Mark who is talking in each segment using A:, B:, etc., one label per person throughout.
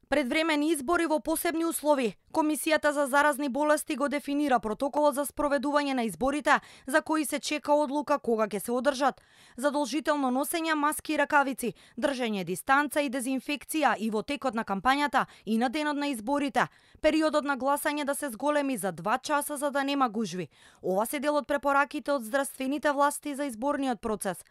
A: Предвремени избори во посебни услови. Комисијата за заразни болести го дефинира протоколот за спроведување на изборите, за кои се чека одлука кога ќе се одржат. Задолжително носење маски и ракавици, држење дистанца и дезинфекција и во текот на кампањата и на денот на изборите. Периодот на гласање да се зголеми за 2 часа за да нема гужви. Ова се дел од препораките од здравствените власти за изборниот процес.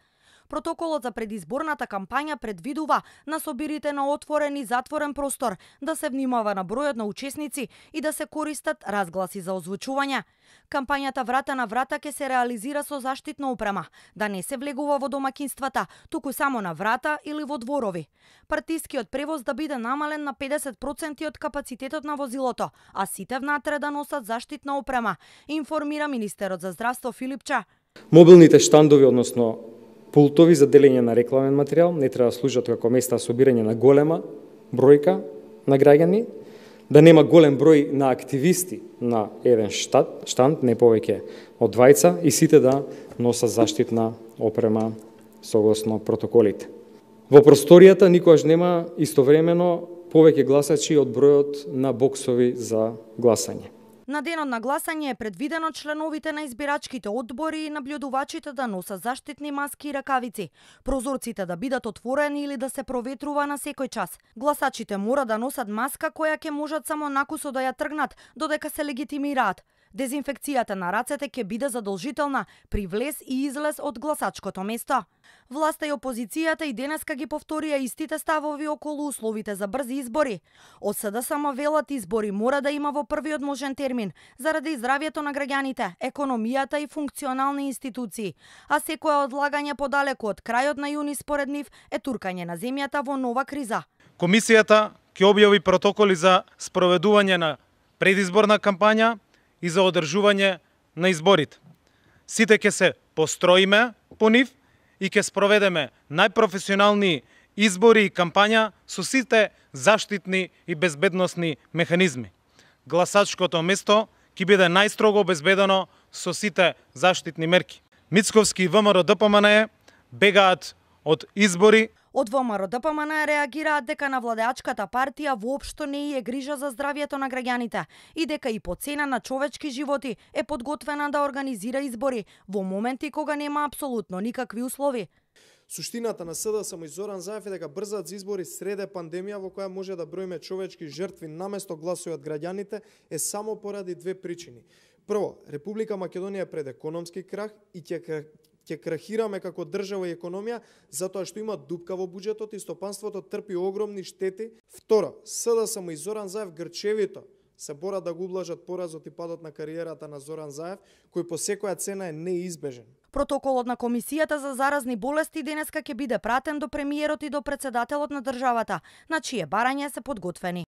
A: Протоколот за предизборната кампања предвидува на собирите на отворен и затворен простор да се внимава на бројот на учесници и да се користат разгласи за озвучување. Кампањата врата на врата ќе се реализира со заштитна опрема, да не се влегува во домаќинствата, туку само на врата или во дворови. Партискиот превоз да биде намален на 50% од капацитетот на возилото, а сите внатре да носат заштитна опрема, информира министерот за здравство Филипча.
B: Мобилните штандови, односно пултови за делење на рекламен материјал, не треба да служат како места за собирање на голема бројка на граѓани, да нема голем број на активисти на еден штанд, не повеќе од 2, и сите да носат заштитна опрема согласно протоколите. Во просторијата никогаш нема истовремено повеќе гласачи од бројот на боксови за гласање.
A: На денот на гласање е предвидено членовите на избирачките одбори и наблюдувачите да носат заштитни маски и ракавици, прозорците да бидат отворени или да се проветрува на секој час. Гласачите мора да носат маска која ќе можат само накусо да ја тргнат додека се легитимираат. Дезинфекцијата на рацете ќе биде задолжителна при влез и излез од гласачкото место. Власта и опозицијата и денеска ги повторија истите ставови околу условите за брзи избори. Од СДСМ велат избори мора да има во првиот можен термин, заради здравјето на граѓаните, економијата и функционални институции, а секое одлагање подалеку од крајот на јуни според нив е туркање на земјата во нова криза.
C: Комисијата ќе објави протоколи за спроведување на предизборна кампања и за одржување на изборите. Сите ќе се построиме по нив и ќе спроведеме најпрофесионални избори и кампања со сите заштитни и безбедносни механизми. Гласачкото место ќе биде најстрого обезбедено со сите заштитни мерки. Мицковски и ВМРО ДПМН бегаат од избори.
A: Од ВМРО ДПМН реагираат дека на владеачката партија воопшто не е грижа за здравјето на граѓаните и дека и по цена на човечки животи е подготвена да организира избори во моменти кога нема апсолутно никакви услови.
D: Суштината на СДСМ и Зоран Заев е дека брзат за избори среде пандемија во која може да броиме човечки жртви наместо гласови од граѓаните е само поради 2 причини. Прво, Република Македонија е пред економски крах и ќе крахираме како држава и економија затоа што има дупка во буџетот и стопанството трпи огромни штети. Второ, СДСМ и Зоран Заев грчевито се борат да го ублажат поразот и падот на кариерата на Зоран Заев, кој по секоја цена е неизбежен.
A: Протоколот на Комисијата за заразни болести денеска ќе биде пратен до премиерот и до претседателот на државата, на чие барање се подготвени.